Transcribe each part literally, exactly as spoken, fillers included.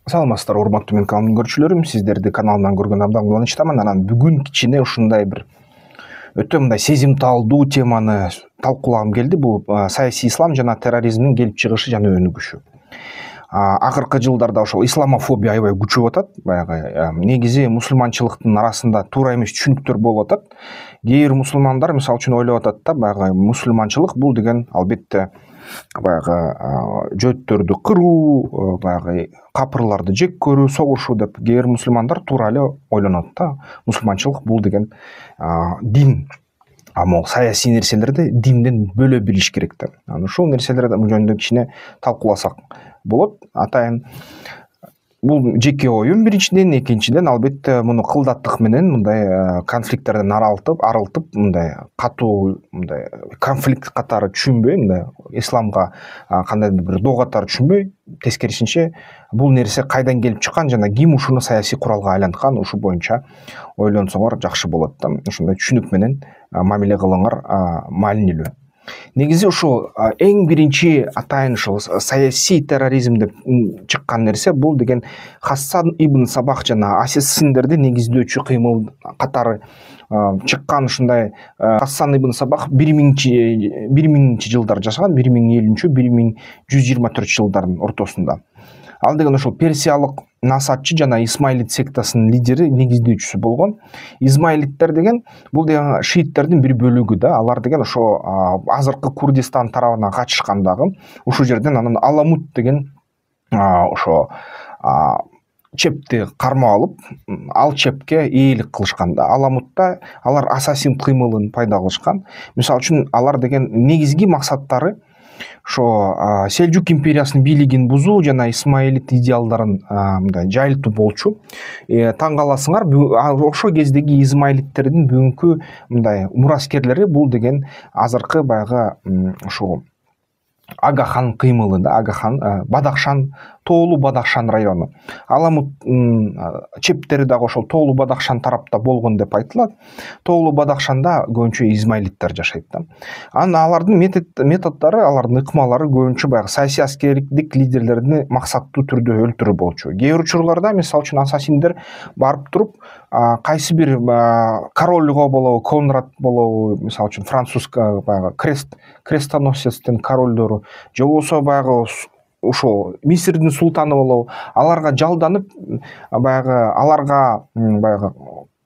Саламатсыздар, урматтуу менин каналымдын көрүүчүлөрүм. Сиздерди каналымдан көргөн абдан кубанычтамын. Анан бүгүн кичине ушундай бир өтө мындай сезимталдуу теманы талкуулагым келди. Бул саясий ислам жана терроризмдин келип чыгышы жана өнүгүшү. Акыркы жылдарда ошол исламофобия аябай күчөп атат. Баягы негизи мусулманчылыктын арасында туура эмес түшүнүктөр болуп атат. Кээ бир мусулмандар мисалы үчүн ойлоп атат да, баягы мусулманчылык бул деген албетте баягы жөөттөрдү кыруу, баягы капырларды жек көрүү, согушуу деп кээ бир мусулмандар туура эле ойлонот да. Мусулманчылык бул деген дин. А могу саясий нерселерди динден бөлө билиш керек да. Анан ушул нерселерди жөнүндө кичине талкууласак болот. Атайын бул жеке оюм биринчиден, экинчиден албетте муну кылдаттык менен мындай конфликттерден арылтып, арылтып мындай катуу мындай конфликт катары түшүнбөй, мындай исламга кандайдыр бир доо катары түшүнбөй, тескерисинче бул нерсе кайдан келип чыккан жана ким ушуну саясий куралга айланткан, ушул боюнча ойлонсоңор жакшы болот да. Ушундай түшүнүк менен мамиле кылыңар маанилүү. Негизи ушул эң биринчи атайын ушул саясий терроризм деп чыккан нерсе бул деген Хасан ибн Сабах жана ассасиндерди негиздөөчү кыймыл катары чыккан ушундай. Хасан ибн Сабах бир миңинчи жылдар жашаган, бир миң элүүнчү бир миң жүз жыйырма төртүнчү жылдардын ортосунда. Ал деген ошол персиялык насатчы жана исмаилит сектасынын лидери, негиздөөчүсү болгон. Измаилиттер деген бул деген шииттердин бир бөлүгү да. Алар деген ошо азыркы Курдистан тарабына качышкан дагы. Ушул жерден анан Аламут деген ошо чепти кармап алып, ал чепке ээлик кылышкан да. Аламутта алар ассасин кыймылын пайда кылышкан. Мисалы үчүн алар деген негизги максаттары ошо Селжук империясынын бийлигин бузуу жана исмаилит идеалдарын мындай жайылтуу болчу. Таң каласыңар, ошол кездеги измаилиттердин бүгүнкү мындай мураскерлери бул деген азыркы баягы ушул Агахан кыймылы да. Агахан, Бадахшан, Тоолу Бадахшан району. Аламут чептери дагы ошол Тоолу Бадахшан тарапта болгон деп айтылат. Тоолу Бадахшанда көбүнчө измаилиттер жашайт да. Анан алардын методдору, алардын ыкмалары көбүнчө баягы саясий аскердик лидерлерди максаттуу түрдө өлтүрүү болчу. Кээ бир учурларда мисалы үчүн ассасиндер барып туруп кайсы бир корольго болобу, Конрад болобу, мисалы үчүн француз баягы крест крестоносецтин королдору, же болбосо баягы ошол Мисирдин султаны болобу, аларга жалданып, баягы аларга баягы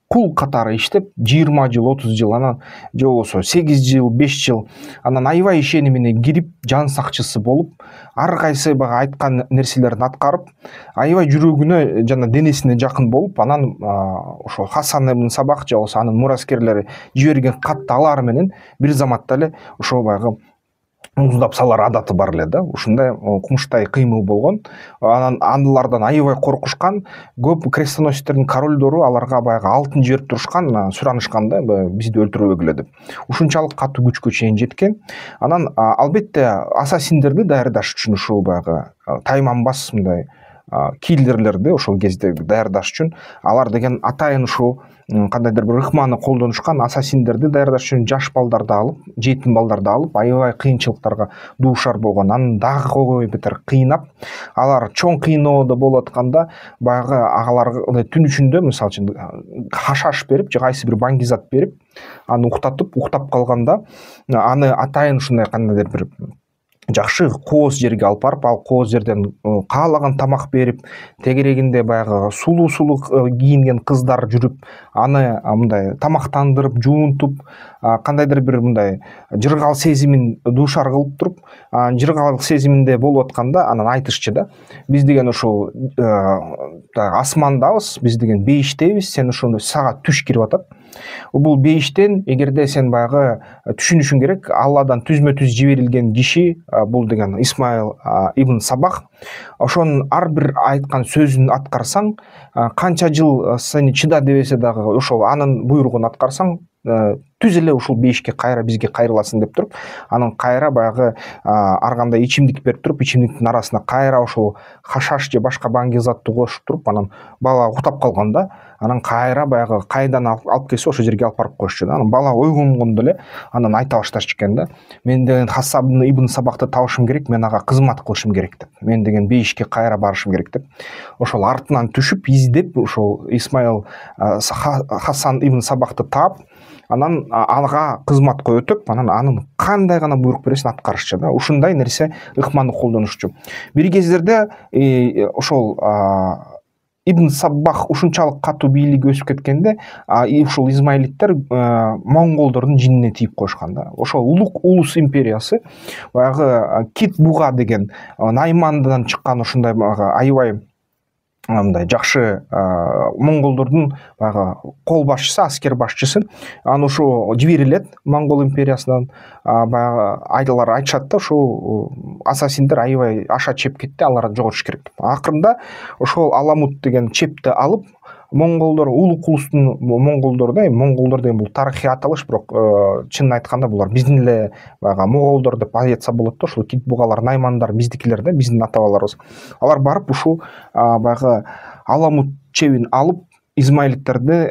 кул катары иштеп, жыйырма жыл, отуз жыл, анан же болбосо сегиз жыл, беш жыл, анан аябай ишеними кирип, жан сакчысы болуп, ар кайсы баягы айткан нерселерин аткарып, аябай жүрөгүнө жана денесине жакын болуп, анан ошол Хасан ибн Сабах же болбосо анын мураскерлери жиберген катты алар менен бир заматта эле ошол баягы муздап салар адаты бар эле да. Ушундай кумуштай кыймыл болгон. Анан алардан аябай коркушкан. Көп крестоносецтердин королдору аларга баягы алтын жиберип турушкан, суранышкан да, бизди өлтүрбөгүлө деп. Ушунчалык катуу күчкө чейин жеткен. Анан албетте ассасиндерди даярдаш үчүн ушул баягы тайманбас мындай киллерлерди ошол кезде даярдаш үчүн алар деген атайын ушул кандайдыр бир ыкманы колдонушкан. Ассасиндерди даярдаш үчүн жаш балдарды алып, жетим балдарды алып, аябай кыйынчылыктарга дуушар болгон. Анан дагы койбой бетер кыйнап, алар чоң кыйноодо болуп атканда баягы аларга түн ичинде мисалы үчүн хашаш берип же кайсы бир баңгизат берип, аны уктатып, уктап калганда аны атайын ушундай кандайдыр бир жакшы кооз жерге алып барып, ал кооз жерден каалаган тамак берип, тегерегинде баягы сулуу-сулуу кийинген кыздар жүрүп, аны мындай тамактандырып, жуунтуп, кандайдыр бир мындай жыргал сезимин дуушар кылып туруп, жыргал сезиминде болуп атканда анан айтышчы да, биз деген ушул асмандабыз, биз деген бейиштебиз, сен ушуну сага түш кирип атат. Бул бейиштен эгерде сен баягы түшүнүшүң керек, Алладан түзмө-түз жиберилген киши бул деген Исмаил ибн Сабах. Ошонун ар бир айткан сөзүн аткарсаң, канча жыл сени чыда дебесе дагы ошол анын буйругун аткарсаң, түз эле ушул бейишке кайра бизге кайрыласың деп туруп, анан кайра баягы ар кандай ичимдик берип туруп, ичимдиктин арасына кайра ошол хашаш же башка баңги затты кошуп туруп, анан бала уктап калганда, анан кайра баягы кайдан алып келсе ошол жерге алып барып коюшчу да. Анан бала ойгонгондо эле анан айта башташчу экен да. Мен деген Хасаб ибн Сабакты табышым керек, мен ага кызмат кылышым керек деп. Мен деген бейишке кайра барышым керек деп. Ошол артынан түшүп, издеп ошол Исмаил Хасан ибн Сабакты таап, анан ага кызматка өтүп, анан анын кандай гана буйрук бересин аткарышчу да. Ушундай нерсе ыкманы колдонушчу. Бир кездерде ошол Ибн Саббах ушунчалык катуу бийлиги өсүп кеткенде, ушул измаилиттер монголдордун жинине тийип коюшкан да. Ошол улук улус империясы баягы Кит Буга деген Наймандан чыккан ушундай баягы аябай мындай жакшы монголдордун баягы кол башчысы, аскер башчысы, аны ушу жиберилет Монгол империясынан. Баягы айталар айтышат да, ушул ассасиндер аябай аша чеп кетти, аларды жоготуш керек деп. Акырында ошол Аламут деген чепти алып, монголдор, улук улустун монголдор да, монголдор деген бул тарыхый аталыш, бирок чынын айтканда булар биздин эле баягы моголдор деп айтса болот да. Ошол Кит Бугалар, Наймандар биздикилер да, биздин ата бабаларыбыз. Алар барып ушул баягы Аламут чебин алып, измаилиттерди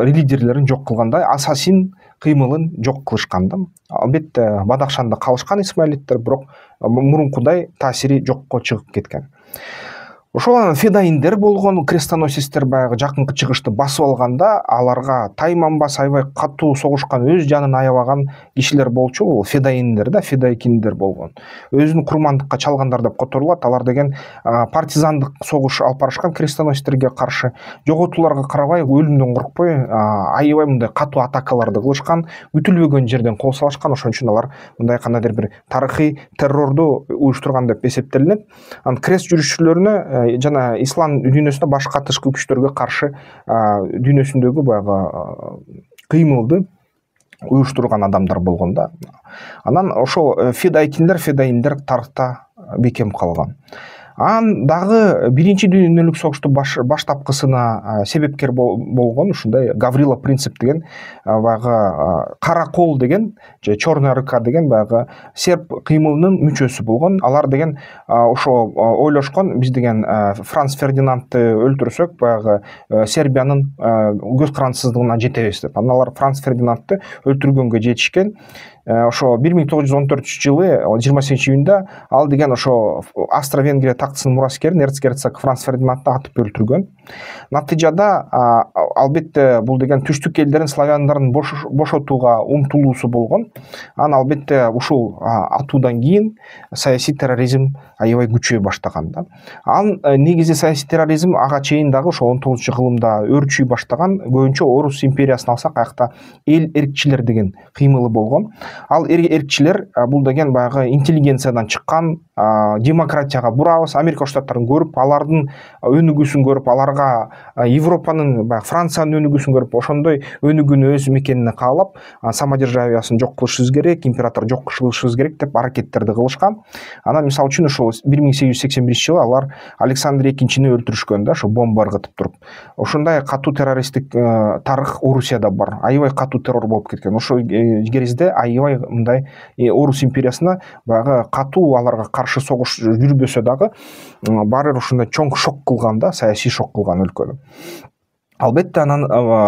лидерлерин жок кылгандай, ассасин кыймылын жок кылышкан да. Албетте Бадахшанда калышкан исмаилиттер, бирок мурункудай таасири жокко чыгып кеткен. Ошол анан федайиндер болгон, крестоносецтер баягы жакынкы чыгышты басып алганда, аларга тайманбас аябай катуу согушкан, өз жанын аябаган кишилер болчу, бул федайиндер да, федайкиндер болгон. Өзүн курмандыкка чалгандар деп которулат. Алар деген партизандык согуш алып барышкан крестоносецтерге каршы. Жоготууларга карабай, өлүмдөн коркпой, аябай мындай катуу атакаларды кылышкан, күтүлбөгөн жерден кол салышкан. Ошон үчүн алар мындай кандайдыр бир тарыхый террорду уюштурган деп эсептелинет. Анан крест жүрүшчүлөрүнө жана ислам дүйнөсүндө башка тышкы күчтөргө каршы дүйнөсүндөгү баягы кыймылды уюштурган адамдар болгон да. Анан ошол федайкиндер, федайиндер тарыхта бекем калган. Анан дагы биринчи дүйнөлүк согушту баштапкысына себепкер болгон ушундай Гаврила Принцип деген баягы кара кол деген же черная рука деген баягы серб кыймылынын мүчөсү болгон. Алар деген ошо ойлошкон, биз деген Франц Фердинандты өлтүрсөк баягы Сербиянын көз карандысыздыгына жетебиз деп. Анан алар Франц Фердинандты өлтүргөнгө жетишкен. Ошо бир миң тогуз жүз он төртүнчү жылы жыйырма сегизинчи июнда ал деген ошо Австро-Венгрия тактысынын мураскерин эрцгерцог Франц Фердинандты атып өлтүргөн. Натыйжада албетте бул деген түштүк элдерин, славяндардын бошотууга умтулуусу болгон. Анан албетте ушул атуудан кийин саясий терроризм аябай күчөй баштаган да. Анын негизи саясий терроризм ага чейин дагы ошо он тогузунчу кылымда өрчүй баштаган. Көбүнчө Орус империясын алсак, аякта эл эркчилер деген кыймылы болгон. Ал эркчилер бул деген баягы интеллигенциядан чыккан, демократияга бурабыз, Америка Штаттарын көрүп, алардын өнүгүүсүн көрүп, аларга Европанын, баягы Франциянын өнүгүүсүн көрүп, ошондой өнүгүүнү өз мекенине каалап, самодержавиясын жок кылышыбыз керек, император жок кылышыбыз керек деп аракеттерди кылышкан. Анан мисалы үчүн ошол бир миң сегиз жүз сексен биринчи жылы алар Александр экинчини өлтүрүшкөн да, ошо бомба ыргытып туруп. Ошондой катуу террористтик тарых Орусияда бар. Аябай катуу террор болуп кеткен. Ошол кезде аябай мындай Орус империясына баягы катуу аларга каршы согуш жүрбөсө дагы баары бир ушундай чоң шок кылган да, саясий шок кылган өлкөнү. Албетте анан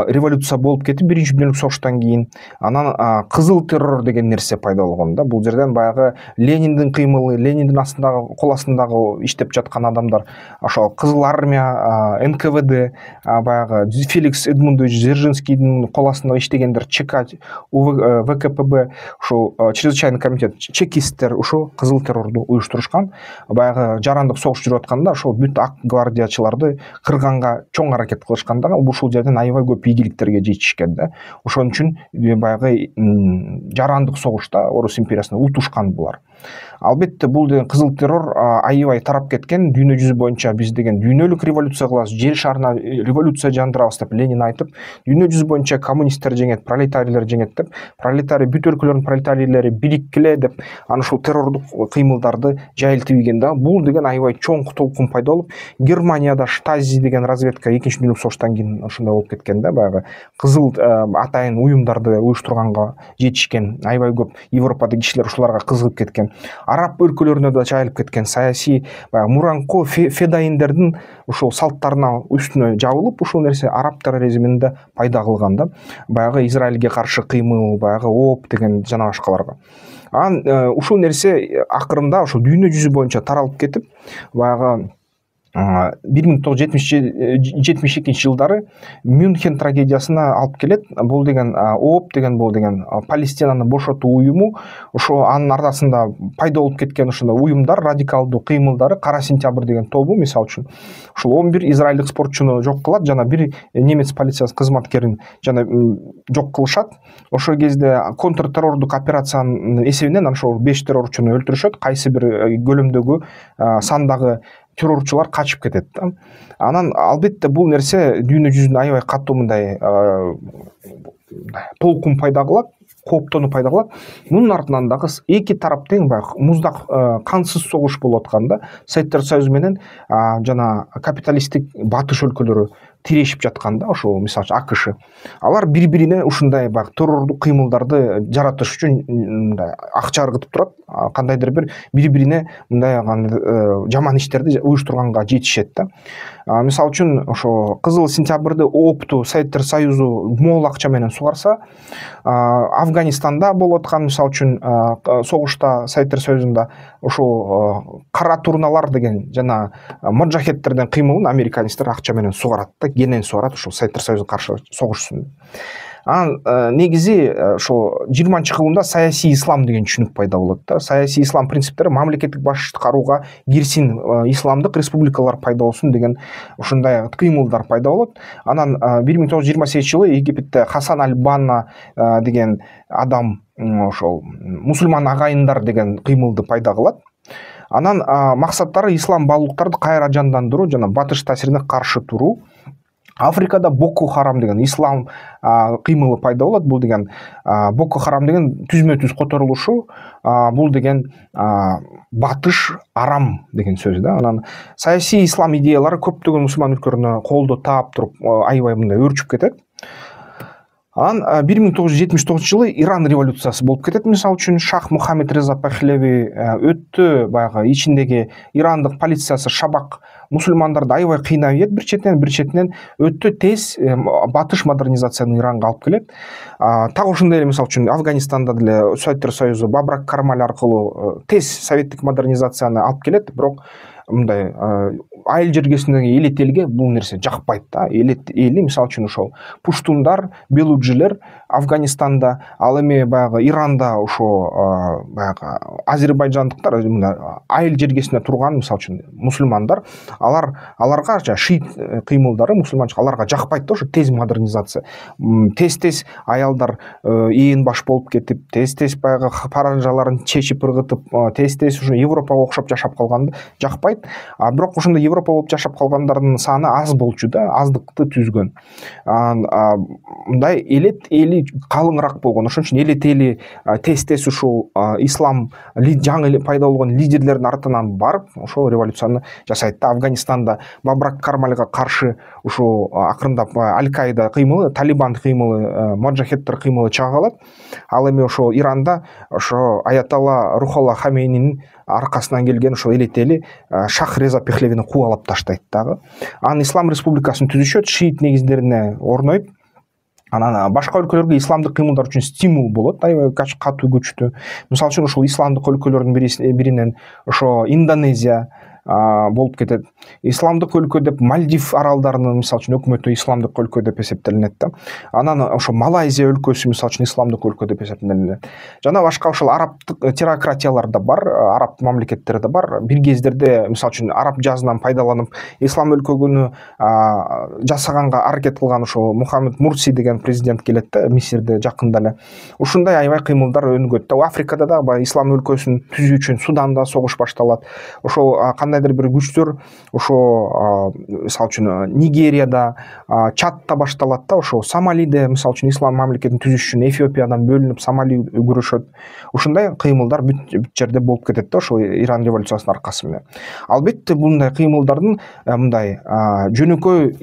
революция болуп кетип биринчи дүйнөлүк согуштан кийин анан кызыл террор деген нерсе пайда болгон да. Бул жерден баягы Лениндин кыймылы, Лениндин астындагы, кол астындагы иштеп жаткан адамдар, ошол Кызыл армия, эн ка вэ дэ, баягы Феликс Эдмундович Дзержинскийдин кол астында иштегендер, ЧК, вэ ка пэ бэ, ошол чрезвычайный комитет, чекисттер ушул кызыл террорду уюштурушкан. Баягы жарандык согуш жүрүп атканда ошол бүт ак гвардиячыларды кырганга чоң аракет кылышкан да. Ушул жерден аябай көп ийгиликтерге жетишкен да. Ошон үчүн баягы жарандык согушта Орус империясына утушкан булар. Албетте бул деген кызыл террор аябай тарап кеткен. Дүйнө жүзү боюнча биз деген дүйнөлүк революция кылабыз, жер шарына революция жандырабыз деп Ленин айтып, дүйнө жүзү боюнча коммунисттер жеңет, пролетарийлер жеңет деп, пролетарий бүт өлкөлөрдүн пролетарийлери бириkkиле деп анан ушул террордук кыймылдарды жайылтып ийген да. Бул деген аябай чоң толкун пайда болуп, Германияда Штази деген разведка экинчи дүйнөлүк согуштан кийин атайын ошондой болуп кеткен да, баягы кызыл атайын уюмдарды уюштурганга жетишкен, аябай көп Европадагы кишилер ушуларга кызыгып кеткен. Араб өлкөлөрүнө да жайылып кеткен саясий баягы мураңкы федайиндердин ушул салттарына үстүнө жабылып, ушул нерсе араб терроризмин да пайда кылган да, баягы Израилге каршы кыймыл, баягы ООП деген жана башкаларга. Анан ушул нерсе акырында ошол дүйнө жүзү боюнча таралып кетип, баягы бир миң тогуз жүз жетимиш экинчи жылдары Мюнхен трагедиясына алып келет. Бул деген ООП деген бул деген Палестинаны бошотуу уюму, ошо анын ардасында пайда болуп кеткен ошондой уюмдар, радикалдуу кыймылдары, Кара сентябрь деген тобу, мисалы үчүн ушул он бир израилдик спортчуну жок кылат, жана бир немец полициясы кызматкерин жана жок кылышат. Ошол кезде контртеррордук операциянын эсебинен ошол беш террорчуну өлтүрүшөт, кайсы бир көлөмдөгү сандагы террорчулар качып кетет да. Анан албетте бул нерсе дүйнө жүзүндө аябай катуу мындай толкун пайда кылат, кооптонуу пайда кылат. Мунун артынан дагы эки тарап тең баягы муздак кансыз согуш болуп атканда, Советтер Союзу менен жана капиталисттик батыш өлкөлөрү тирешип жатканда, ошол мисалы үчүн АКШ, алар бири-бирине ушундай баягы террордук кыймылдарды жаратыш үчүн мындай акча ыргытып турат, кандайдыр бир бири-бирине мындай жаман иштерди уюштурганга жетишет да. Мисалы үчүн ошо Кызыл сентябрды, ООПту Советтер Союзу мол акча менен сугарса, Афганистанда болуп аткан мисалы үчүн согушта Советтер Союзунда ошол кара турналар деген жана моджахедтердин кыймылын американецтер акча менен сугарат да, кенен сугарат ошол Советтер Союзуна каршы согушсун. Анан негизи ошо жыйырманчы кылымда саясий ислам деген түшүнүк пайда болот да. Саясий ислам принциптери мамлекеттик башчылык карууга кирсин, исламдык республикалар пайда болсун деген ушундай кыймылдар пайда болот. Анан бир миң тогуз жүз жыйырма сегизинчи жылы Египетте Хасан аль-Банна деген адам ошол мусулман агайындар деген кыймылды пайда кылат. Анан максаттары ислам баалуулуктарды кайра жандандыруу жана батыш таасирине каршы туруу. Африкада Боко Харам деген ислам кыймылы пайда болот. Бул деген Боко Харам деген түзмө-түз которулушу, бул деген батыш арам деген сөз да. Анан саясий ислам идеялары көптөгөн мусулман өлкөлөрүнө колдоо таап туруп аябай мындай өрчүп кетет. Анан бир миң тогуз жүз жетимиш тогузунчу жылы Иран революциясы болуп кетет. Мисалы үчүн Шах Мухаммед Реза Пахлеви өттө баягы ичиндеги ирандык полициясы шабак мусулмандарды аябай кыйнап ийет бир четинен, бир четинен өтө тез батыш модернизацияны Иранга алып келет. Так ошондой эле мисалы үчүн Афганистанда деле Советтер Союзу Бабрак Кармаль аркылуу тез советтик модернизацияны алып келет, бирок мындай айыл жергесиндеги элет элге бул нерсе жакпайт да. Элет эли мисалы үчүн ошол пуштундар, белуджилер Афганистанда, ал эми баягы Иранда ошо баягы азербайжандыктар айыл жергесинде турган мисалы үчүн мусулмандар, алар аларга шиит кыймылдары мусулманчылык аларга жакпайт да, ошо тез модернизация. Тез-тез аялдар ээн баш болуп кетип, тез-тез баягы паранжаларын чечип ыргытып, тез-тез ушу Европага окшоп жашап калганды жакпайт. А бирок ошондо Европа болуп жашап калгандардын саны аз болчу да, аздыкты түзгөн. Мындай элет эли калыңыраак болгон. Ошон үчүн элет эли тез-тез ушул ислам жаңы пайда болгон лидерлердин артынан барып, ошол революцияны жасайт да. Афганистанда Бабрак Кармальга каршы ушул акырындап Аль-Каида кыймылы, Талибан кыймылы, моджахедтер кыймылы чыга калат. Ал эми ошо Иранда ошо Аятолла Рухолла Хамейнинин аркасынан келген ошол элет эли Шах Реза Пехлевини кубалап таштайт дагы. Анан Ислам республикасын түзүшөт, шиит негиздерине орнойт. Анан башка өлкөлөргө исламдык кыймылдар үчүн стимул болот, аябай катуу күчтүү. Мисалы үчүн ушул исламдык өлкөлөрдүн биринен ошо Индонезия болуп кетет. Исламдык өлкө деп Мальдив аралдарынын мисалы үчүн өкмөтү исламдык өлкө деп эсептелинет да. Анан ошо Малайзия өлкөсү мисалы үчүн исламдык өлкө деп эсептелинет. Жана башка ошол арабтык теократиялар да бар, араб мамлекеттери да бар. Бир кездерде мисалы үчүн араб жазынан пайдаланып ислам өлкөгүнү жасаганга аракет кылган ошо Мухаммед Мурси деген президент келет да, Мисирде жакында эле. Ушундай аябай кыймылдар өнүгөт да. Африкада да баягы ислам өлкөсүн түзүү үчүн Суданда согуш башталат. Ошол кандайдыр бир күчтөр ошо мисалы үчүн Нигерияда, Чадта башталат да, ошо Сомалиде мисалы үчүн ислам мамлекетин түзүш үчүн Эфиопиядан бөлүнүп Сомали күрөшөт. Ушундай кыймылдар бүт жерде болуп кетет да, ошол Иран революциясынын аркасы менен. Албетте мындай кыймылдардын мындай жөнөкөй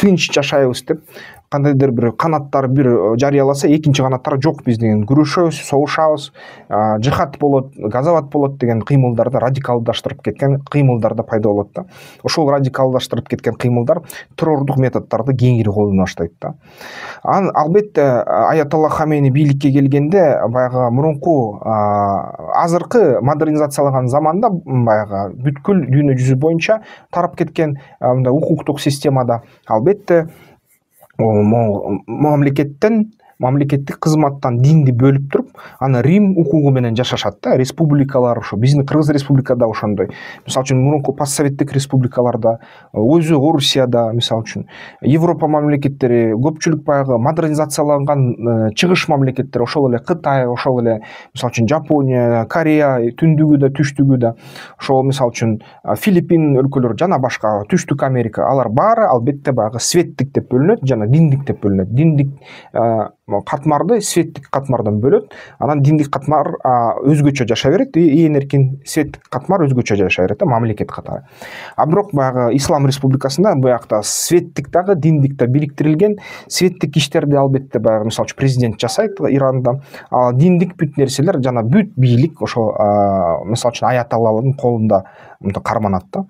тынч жашайбыз деп кандайдыр бир канаттар бир жарыяласа, экинчи канаттар жок, биз деген күрөшөбүз, согушабыз, жихад болот, газават болот деген кыймылдарды радикалдаштырып кеткен кыймылдар да пайда болот да. Ошол радикалдаштырып кеткен кыймылдар террордук методдорду кеңири колдоно баштайт да. Анан албетте Аятолла Хамени бийликке келгенде баягы мурунку азыркы модернизацияланган заманда баягы бүткүл дүйнө жүзү боюнча тарап кеткен мындай укуктук системада албетте мамлекеттен мамлекеттик кызматтан динди бөлүп туруп, аны Рим укугу менен жашашат да. Республикалар ошо биздин Кыргыз республикада ошондой. Мисалы үчүн мурунку постсоветтик республикаларда, өзү Орусияда, мисалы үчүн Европа мамлекеттери, көпчүлүк баягы модернизацияланган чыгыш мамлекеттер, ошол эле Кытай, ошол эле мисалы үчүн Жапония, Корея, түндүгү да, түштүгү да, ошол мисалы үчүн Филиппин өлкөлөрү жана башка, Түштүк Америка, алар баары албетте баягы светтик деп бөлүнөт жана диндик деп бөлүнөт. Диндик катмарды светтик катмардан бөлөт, анан диндик катмар өзгөчө жашай берет, ээн эркин светтик катмар өзгөчө жашай берет да, мамлекет катары. А бирок баягы Ислам республикасында буякта светтик дагы диндик да бириктирилген, светтик иштерди албетте баягы мисалы үчүн президент жасайт Иранда, а диндик бүт нерселер жана бүт бийлик ошол мисалы үчүн аятоллалардын колунда карманат да.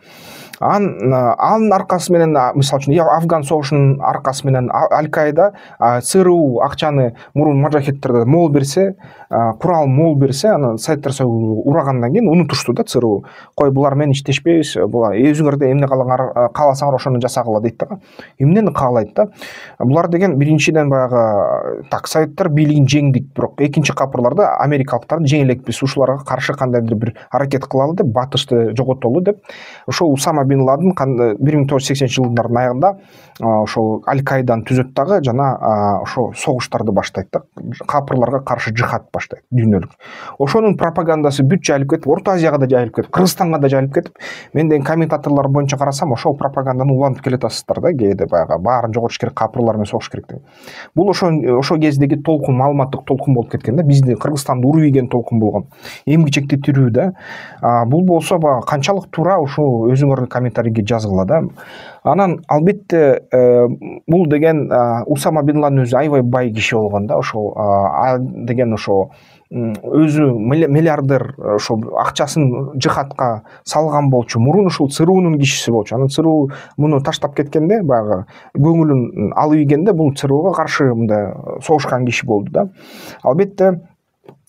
Анын анын аркасы менен мисалы үчүн Афган согушунун аркасы менен Аль-Каида ЦРУ акчаны мурун мажахеттерде мол берсе, курал мол берсе, анан Советтер Союзу урагандан кийин унутушту да ЦРУ. Кой, булар менен иштешпейбиз, була өзүңөрдө эмне каалаңар, кааласаңар ошону жасагыла дейт да. Эмнени каалайт да? Булар деген биринчиден баягы так Советтер бийлигин жеңдик, бирок экинчи капырларда америкалыктарды жеңе элекпиз, ушуларга каршы кандайдыр бир аракет кылалы деп, батышты жоготолу деп, ошол Усама бин Ладен бир миң тогуз жүз сексенинчи жылдардын аягында ошол Аль-Каиданы түзөт дагы жана ошо согуштарды баштайт да, капырларга каршы жихад баштайт дүйнөлүк. Ошонун пропагандасы бүт жайылып кетип, Орто Азияга да жайылып кетип, Кыргызстанга да жайылып кетип, мен деген комментаторлор боюнча карасам, ошол пропаганданы улантып келатасыздар да, кээде баягы баарын жоготуш керек, капырлар менен согуш керек деп. Бул ошо ошо кездеги толкун, маалыматтык толкун болуп кеткен да, бизди Кыргызстанды уруп ийген толкун болгон. Эмгичекти тирүү да. Бул болсо баягы канчалык туура, ушул өзүңөрдүн комментарийге жазгыла да. Анан албетте бул деген Усама бин Ладен өзү аябай бай киши болгон да, ошол деген ошо өзү миллиардер, ошол акчасын жихадка салган болчу, мурун ушул ЦРУнун кишиси болчу. Анан ЦРУ муну таштап кеткенде, баягы көңүлүн алып ийгенде, бул ЦРУга каршы мындай согушкан киши болду да. Албетте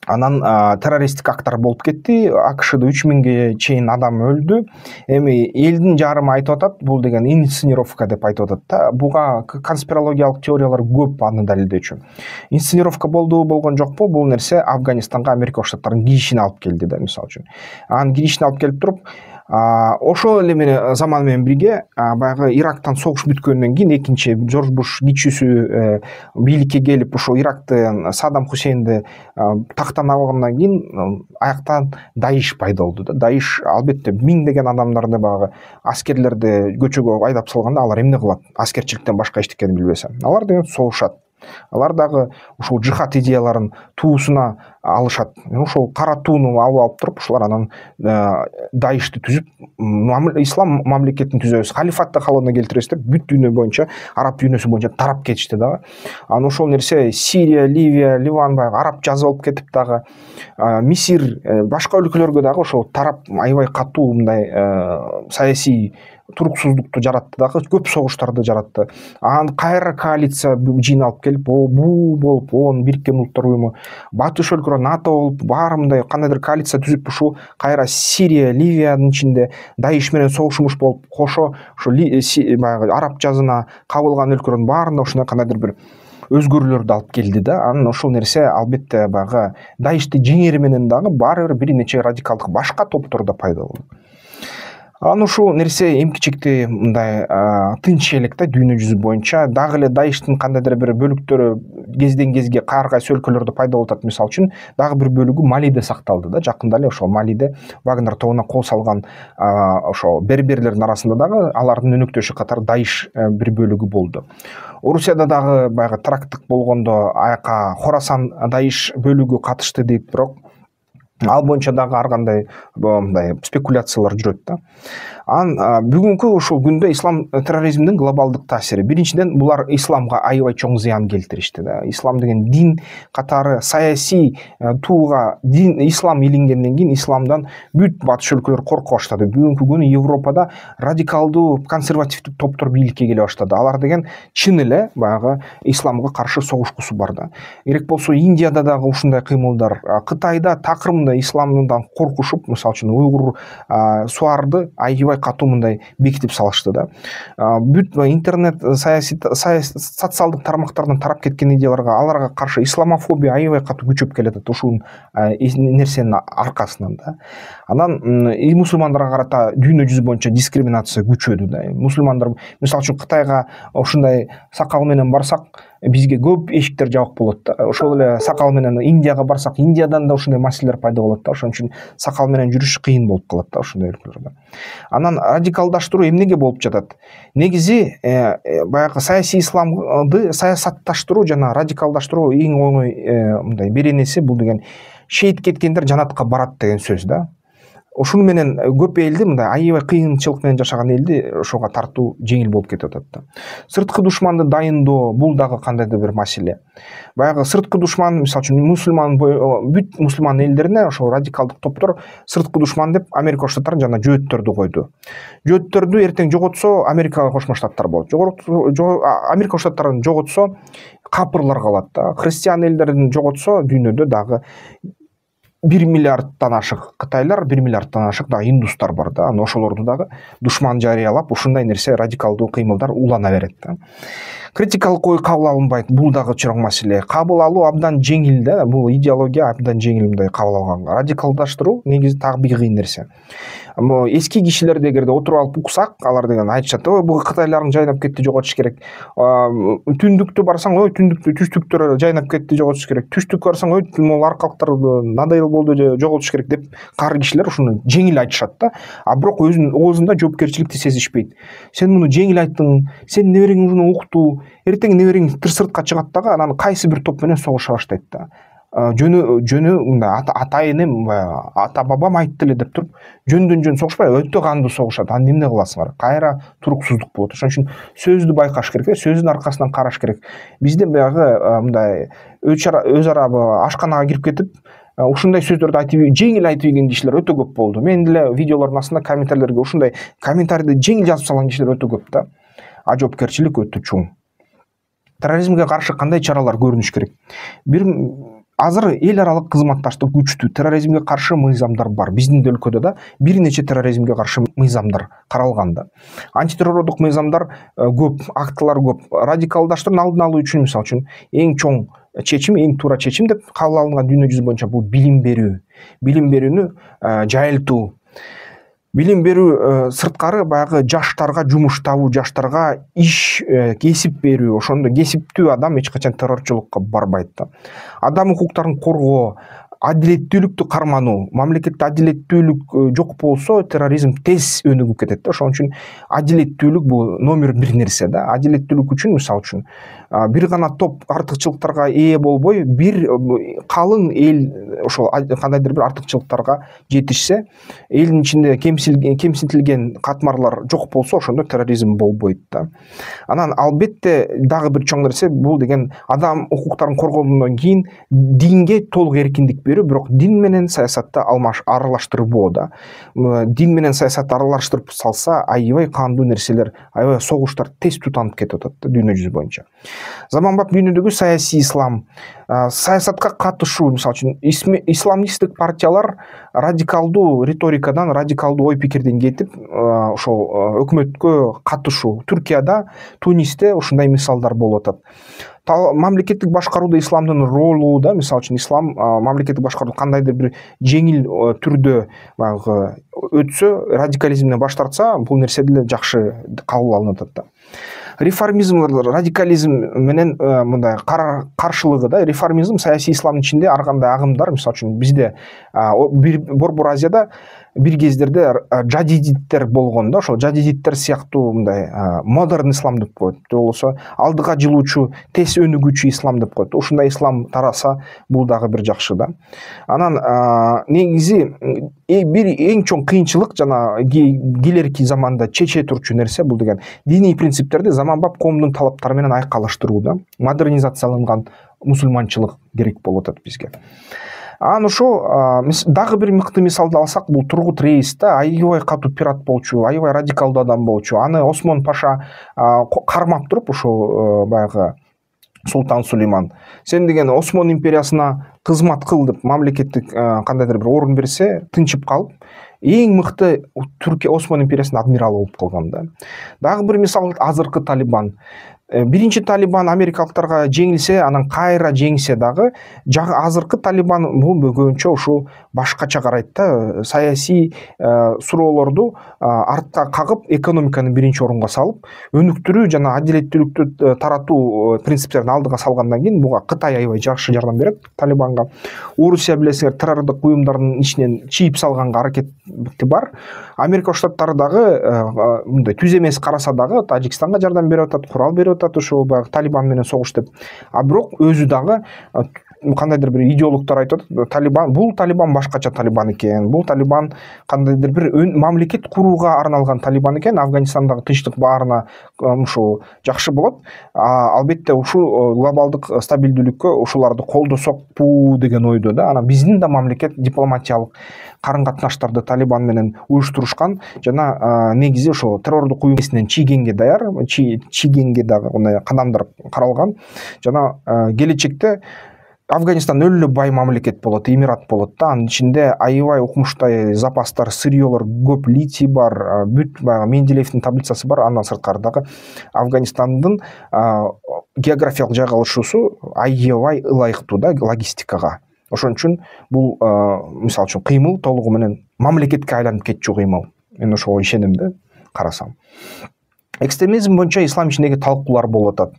анан террористтик акттар болуп кетти. АКШда үч миңге чейин адам өлдү. Эми элдин жарымы айтып атат, бул деген инсценировка деп айтып атат да. Буга конспирологиялык теориялар көп аны далилдөөчү. Инсценировка болду, болгон жокпу? Бул нерсе Афганистанга Америка Коштаттарынын киришин алып келди да, мисалы үчүн. Анын киришин алып келип туруп, ошол эле менен заман менен бирге баягы Ирактан согуш бүткөндөн кийин экинчи Жорж Буш кичүүсү бийликке келип, ошо Иракты Саддам Хусейнди тактан алгандан кийин аяктан Даиш пайда болду да. Даиш албетте миңдеген адамдарды баягы аскерлерди көчөгө айдап салганда, алар эмне кылат? Аскерчиликтен башка эчтекени билбесе. Алар деген согушат. Алар дагы ушул жихад идеяларын туусуна алышат. Ошол кара тууну алып алып туруп, ушулар анан Даишти түзүп, ислам мамлекетин түзөбүз, халифатты калыбына келтиребиз деп бүт дүйнө боюнча, араб дүйнөсү боюнча тарап кетишти дагы. Анан ошол нерсе Сирия, Ливия, Ливан баягы араб жазы болуп кетип дагы, Мисир, башка өлкөлөргө дагы ошол тарап аябай катуу мындай саясий туруксуздукту жаратты дагы, көп согуштарды жаратты. Анан кайра коалиция жыйналып келип, бу болуп, он Бириккен Улуттар уюму, батыш өлкөлөр НАТО болуп, баары мындай кандайдыр коалиция түзүп, ушул кайра Сирия, Ливиянын ичинде Даиш менен согушмуш болуп, кошо ошо баягы араб жазына кабылган өлкөлөрдүн баарында ушундай кандайдыр бир өзгөрүүлөрдү алып келди да. Анан ошол нерсе албетте баягы Даишти жеңери менен дагы баары бир бир нече радикалдык башка топтор да пайда болду. Анан ушул нерсе эмкичекти мындай тынч элек да дүйнө жүзү боюнча. Дагы эле Даиштин кандайдыр бир бөлүктөрү кезден кезге ар кайсы өлкөлөрдө пайда болуп атат. Мисалы үчүн дагы бир бөлүгү Малиде сакталды да. Жакында эле ошол Малиде Вагнер тобуна кол салган ошол берберлердин арасында дагы алардын өнөктөшү катары Даиш бир бөлүгү болду. Орусияда дагы баягы теракттык болгондо аяка Хорасан Даиш бөлүгү катышты дейт, бирок ал боюнча дагы ар кандай мындай спекуляциялар жүрөт да. Анан бүгүнкү ушул күндө ислам терроризмдин глобалдык таасири. Биринчиден, булар исламга аябай чоң зыян келтиришти да. Ислам деген дин катары саясий тууга дин ислам илингенден кийин исламдан бүт батыш өлкөлөр корко баштады. Бүгүнкү күнү Европада радикалдуу консервативдик топтор бийликке келе баштады. Алар деген чын эле баягы исламга каршы согушкусу бар да. Керек болсо Индияда дагы ушундай кыймылдар, Кытайда такырымда исламдан коркушуп, мисалы үчүн уйгур суарды аябай катуу мындай бекитип салышты да. Бүт интернет саясий социалдык тармактардан тарап кеткен идеяларга, аларга каршы исламофобия аябай катуу күчөп келатат ушул нерсенин аркасынан да. Анан и мусулмандарга карата дүйнө жүзү боюнча дискриминация күчөдү да. Мусулмандар мисалы үчүн Кытайга ушундай сакал менен барсак, бизге көп эшиктер жабык болот да. Ошол эле сакал менен Индияга барсак, Индиядан да ушундай маселелер пайда болот да. Ошон үчүн сакал менен жүрүш кыйын болуп калат да ушундай өлкөлөрдө. Анан радикалдаштыруу эмнеге болуп жатат? Негизи баягы саясий исламды саясатташтыруу жана радикалдаштыруу эң оңой мындай беренеси, бул деген шейит кеткендер жанатка барат деген сөз да. Ошону менен көп элди, мындай аябай кыйынчылык менен жашаган элди ошого тартуу жеңил болуп кетип атат да. Сырткы душманды дайындоо, бул дагы кандайдыр бир маселе. Баягы сырткы душман, мисалы үчүн мусулман бүт мусулман элдерине ошол радикалдык топтор сырткы душман деп Америка Коңшу Штаттарын жана жөөттөрдү койду. Жөөттөрдү эртең жоготсо Америка Кошмо Штаттар болот. Америка Коңшу Штаттарын жоготсо капырлар калат да. Христиан элдерин жоготсо дүйнөдө дагы бир миллиардтан ашык кытайлар, бир миллиардтан ашык дагы индустар бар да. Анан ошолорду дагы душман жарыялап, ушундай нерсе радикалдуу кыймылдар улана берет да. Критикалык ой кабыл алынбайт, бул дагы чоң маселе. Кабыл алуу абдан жеңил да, бул идеология абдан жеңил мындай кабыл алганга. Радикалдаштыруу негизи дагы бир кыйын нерсе. Эски кишилерди эгерде отуруп алып уксак, алар деген айтышат, ой бул кытайлардын жайнап кетти, жоготуш керек. Түндүктү барсаң, ой түндүктү, түштүктөр жайнап кетти, жоготуш керек. Түштүккө барсаң, ой могу аркалыктар надоел болду, жоготуш керек деп кары кишилер ушуну жеңил айтышат да. А бирок өзүнүн оозунда жоопкерчиликти сезишпейт. Сен муну жеңил айттың, сен неберең муну укту, эртең неберең сыртка чыгат дагы анан кайсы бир топ менен согуша баштайт да. Жөнү жөнү мындай ата энем, ата бабам айтты эле деп туруп, жөндөн жөн согушпай, өтө кандуу согушат. Анан эмне кыласыңар? Кайра туруксуздук болот. Ошон үчүн сөздү байкаш керек, сөздүн аркасынан караш керек. Бизде баягы мындай өз ара ашканага кирип кетип, ушундай сөздөрдү айтып, жеңил айтып ийген кишилер өтө көп болду. Мен деле видеолордун астында комментарийлерге ушундай комментарийди жеңил жазып салган кишилер өтө көп да. А жоопкерчилик өтө чоң. Терроризмге каршы кандай чаралар көрүнүш керек? Бир азыр эл аралык кызматташтык күчтүү, терроризмге каршы мыйзамдар бар. Биздин өлкөдө да бир нече терроризмге каршы мыйзамдар каралган да. Антитеррордук мыйзамдар көп, актылар көп. Радикалдаштырууну алдын алуу үчүн, мисалы үчүн, эң чоң чечим, эң туура чечим деп кабыл алынган дүйнө жүзү боюнча бул билим берүү. Билим берүүнү жайылтуу. Билим берүү сырткары баягы жаштарга жумуш табуу, жаштарга иш, кесип берүү. Ошондо кесиптүү адам эч качан террорчулукка барбайт да. Адам укуктарын коргоо, адилеттүүлүктү кармануу. Мамлекетте адилеттүүлүк жок болсо, терроризм тез өнүгүп кетет да. Ошон үчүн адилеттүүлүк бул номер бир нерсе да. Адилеттүүлүк үчүн, мисалы үчүн, бир гана топ артыкчылыктарга ээ болбой, бир калың эл ошол кандайдыр бир артыкчылыктарга жетишсе, элдин ичинде кемсинтилген катмарлар жок болсо, ошондо терроризм болбойт да. Анан албетте дагы бир чоң нерсе, бул деген адам укуктарын коргоодон кийин динге толук эркиндик берүү, бирок дин менен саясатты алмаш аралаштырбоо да. Дин менен саясатты аралаштырып салса, аябай кандуу нерселер, аябай согуштар тез тутанып кетип атат да дүйнө жүзү боюнча. Заманбап дүйнөдөгү саясий ислам, саясатка катышуу, мисалы үчүн, исламисттик партиялар радикалдуу риторикадан, радикалдуу ой пикирден кетип, ошол өкмөткө катышуу. Түркияда, Тунисте ушундай мисалдар болуп атат. Мамлекеттик башкарууда исламдын ролу да, мисалы үчүн, ислам мамлекеттик башкаруу кандайдыр бир жеңил түрдө өтсө, радикализмден баш тартса, бул нерсе деле жакшы кабыл алынып атат да. реформизм, радикализм менен мындай каршылыгы да. Реформизм саясий исламдын ичинде ар кандай агымдар, мисалы үчүн бизде Борбор Азияда бир кездерде жадидиттер болгон да, ошол жадидиттер сыяктуу мындай модерн ислам деп коет, же болбосо алдыга жылуучу, тез өнүгүүчү ислам деп коет. Ушундай ислам тараса бул дагы бир жакшы да. Анан негизи бир эң чоң кыйынчылык жана келерки заманда чече турчу нерсе бул деген диний принциптерди заманбап коомдун талаптары менен айкалыштыруу да. Модернизацияланган мусулманчылык керек болуп атат бизге. Анан ошо дагы бир мыкты мисалды алсак, бул Тургут Рейс да, аябай катуу пират болчу, аябай радикалдуу адам болчу. Аны Осмон Паша кармап туруп, ошо баягы Султан Сулейман, сен деген Осмон империясына кызмат кыл деп мамлекеттик кандайдыр бир орун берсе, тынчып калып, эң мыкты Түркия Осмон империясынын адмиралы болуп калган да. Дагы бир мисал азыркы Талибан. Биринчи Талибан америкалыктарга жеңилсе, анан кайра жеңсе дагы, азыркы Талибан бул көбүнчө ушул башкача карайт да. Саясий суроолорду артка кагып, экономиканы биринчи орунга салып, өнүктүрүү жана адилеттүүлүктү таратуу принциптерин алдыга салгандан кийин буга Кытай аябай жакшы жардам берет Талибанга. Орусия билесиңер, террордук уюмдардын ичинен чийип салганга аракети бар. Америка Штаттары дагы мындай түз эмес караса дагы Тажикстанга жардам берип атат, курал берип атат ошо баягы Талибан менен согуш деп. А бирок өзү дагы кандайдыр бир идеологдор айтып атат, Талибан бул Талибан башкача Талибан экен. Бул Талибан кандайдыр бир мамлекет курууга арналган Талибан экен. Афганистандагы тынчтык баарына ушул жакшы болот. Албетте ушул глобалдык стабилдүүлүккө ушуларды колдосокпу деген ойдо да. Анан биздин да мамлекет дипломатиялык карын катнаштарды Талибан менен уюштурушкан жана негизи ошо террордук уюмунан чийгенге даяр, чийгенге дагы мындай кадамдар каралган жана келечекте Афганистан өлө бай мамлекет болот, эмират болот да. Анын ичинде аябай укмуштай запастар, сырьёлор көп, литий бар, бүт баягы Менделеевдин таблицасы бар. Андан сырткары дагы Афганистандын географиялык жайгалышуусу аябай ылайыктуу да логистикага. Ошон үчүн бул мисалы үчүн кыймыл толугу менен мамлекетке айланып кетчү кыймыл. Мен ошого ишенем да, карасам. Экстремизм боюнча ислам ичиндеги талкуулар болуп атат.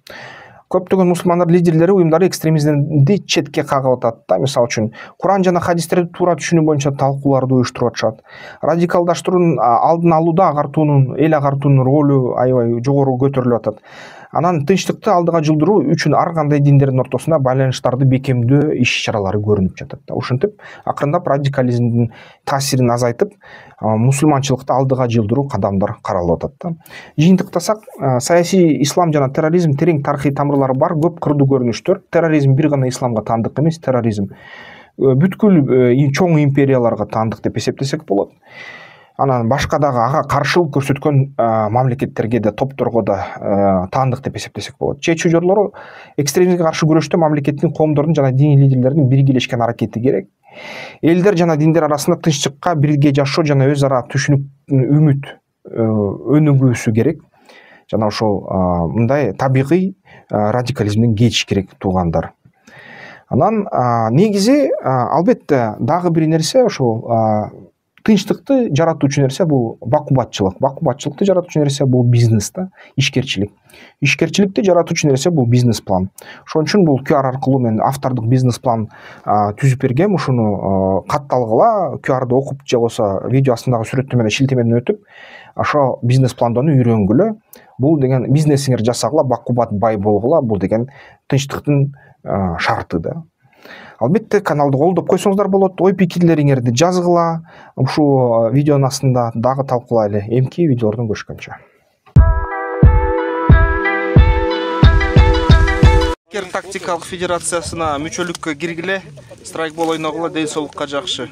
Көптөгөн мусулмандар лидерлери уюмдары экстремизмди четке кагып атат да. Мисалы үчүн Куран жана хадистерди туура түшүнүү боюнча талкууларды уюштуруп атышат. Радикалдаштыруунун алдын алууда агартуунун, эл агартуунун ролу аябай жогору көтөрүлүп атат. Анан тынчтыкты алдыга жылдыруу үчүн ар кандай диндердин ортосунда байланыштарды бекемдөө иш-чаралары көрүнүп жатат да. Ушинтип акырындап радикализмдин таасирин азайтып, мусулманчылыкты алдыга жылдыруу кадамдар каралып атат да. Жыйынтыктасак, саясий ислам жана терроризм терең тарыхый тамырлары бар, көп кырдуу көрүнүштөр. Терроризм бир гана исламга таандык эмес, терроризм бүткүл чоң империяларга таандык деп эсептесек болот. Анан башка дагы ага каршылык көрсөткөн мамлекеттерге да, топторго да таандык деп эсептесек болот. Чечүү жорлору экстремизмге каршы күрөштө мамлекеттин, коомдордун жана диний лидерлердин биргелешкен аракети керек. Элдер жана диндер арасында тынччыкка, бирге жашоо жана өз ара түшүнүк, үмүт өнүгүүсү керек. Жана ошол мындай табигый радикализмден кетиш керек туугандар. Анан негизи албетте дагы бир нерсе ошол тынчтыкты жаратуучу нерсе бул бакубатчылык. Бакубатчылыкты жаратуучу нерсе бул бизнес да, ишкерчилик. Ишкерчиликти жаратуучу нерсе бул бизнес план. Ошон үчүн бул ку ар аркылуу мен автордук бизнес план түзүп бергем. Ушуну катталгыла, ку арды окуп же болбосо видео астындагы сүрөттөмөнү шилтемеден өтүп, ошо бизнес пландоону үйрөнгүлө. Бул деген бизнесиңер жасагыла, бакубат бай болгула, бул деген тынчтыктын шарты да. Албетте каналды колдоп койсоңуздар болот. Ой пикирлериңерди жазгыла. Ушул видеонун астында дагы талкуулайлы. Эмки видеолордон көрүшкөнчө. Тактикалык федерациясына мүчөлүккө киргиле, страйкбол ойногула, ден соолукка жакшы.